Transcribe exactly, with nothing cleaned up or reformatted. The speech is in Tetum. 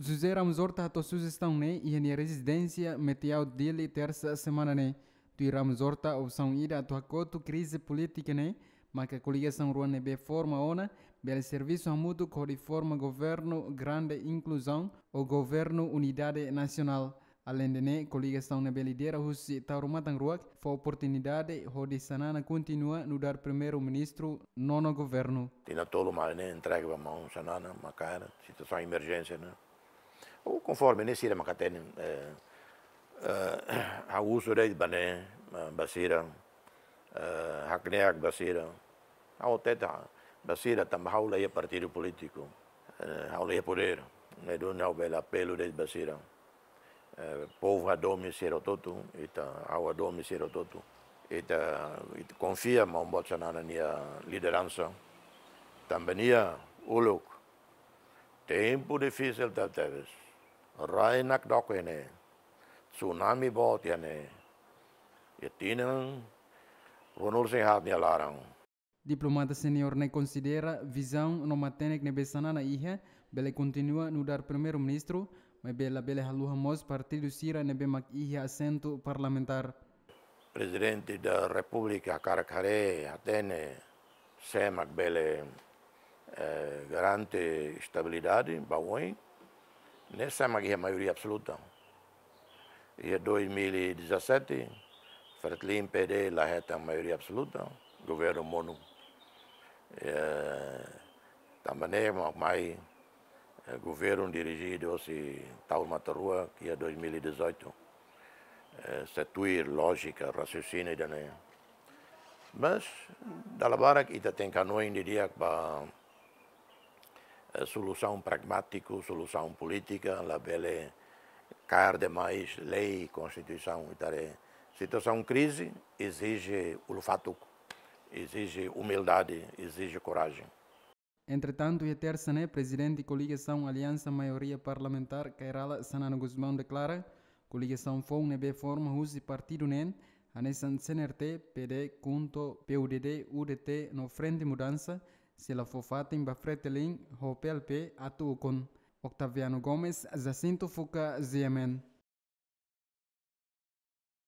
José Ramos Horta hato'o sujestaun ne'e iha nia rezidénsia Metiau, Dili, tersa semana ne'e. Tuir Ramos Horta, opsaun ida atu hakotu krize polítika ne'e maka koligasaun rua ne'ebé forma ona bele servisu hamutuk hodi forma governu grande inkluzaun ou governu unidade nasionál. Aleinde ne'e, koligasaun ne'ebé lidera husi Taur Matan Ruak fó oportunidade hodi Xanana kontinua nu'udar primeiru-ministru nono governu. Tinan tolu mai ne'e entrega ba maun Xanana, maka situasaun emerjénsia ne'e. Ou konforme ne'e sira maka hatene, eh, eh, ha'u husu de'it ba ne'e, eh, ba sira, eh, hakne'ak ba sira. Ha'u hatete ba sira tanba ha'u la iha partidu polítiku, eh, ha'u la iha podér. Ne'e duni ha'u bele apelu de'it ba sira. Eh, povu hadomi sira hotu-hotu, ita ha'u hadomi sira hotu-hotu. Ita, ita konfia maun boot Xanana nia lideransa. Tanba nia uluk tempu difisil tebetebes. Rai nakdoko iha ne'e. Tsunami boot iha ne'e. Iha tinan ruanulu-resin-haat nia laran. Diplomata senior ne'e konsidera vizaun no matenek ne'ebé Xanana iha bele kontinua nu'udar primeiru-ministru, maibé labele haluha mós partidu sira ne'ebé mak iha asentu parlamentár. Prezidente da Repúblika hakarak haree, hatene sé mak bele, eh, garante estabilidade ba oin, ne'e sé mak iha maioria absoluta. Iha dois mil e dezassete, Fretilin, P D la hetan maioria absoluta, governu monu. Eh, tanba ne'e mak mai, eh, governu dirijidu husi Taur Matan Ruak iha dois mil e dezoito. Eh, se tuir lójika, rasiosinio ida-ne'e. Mas, dala barak ita tenke hanoin didi'ak ba, eh, solusaun pragmátiku, solusaun polítika, labele kaer demais lei, konstituisaun, ita haree. Situasaun krize ezije ulun-fatuk, ezije umildade, ezije korajen. Entretantu, iha tersa ne'e, prezidente koligasaun Aliansa Maioria Parlamentár, Kay Rala Xanana Gusmão, deklara koligasaun foun ne'ebé forma husi partidu neen, hanesan C N R T, P D, KHUNTO, P U D D, U D T no Frente Mudansa, sei la fó fatin ba Fretilin ho P L P atu ukun. Octaviano Gomes, Jacinto Fuca, G M N.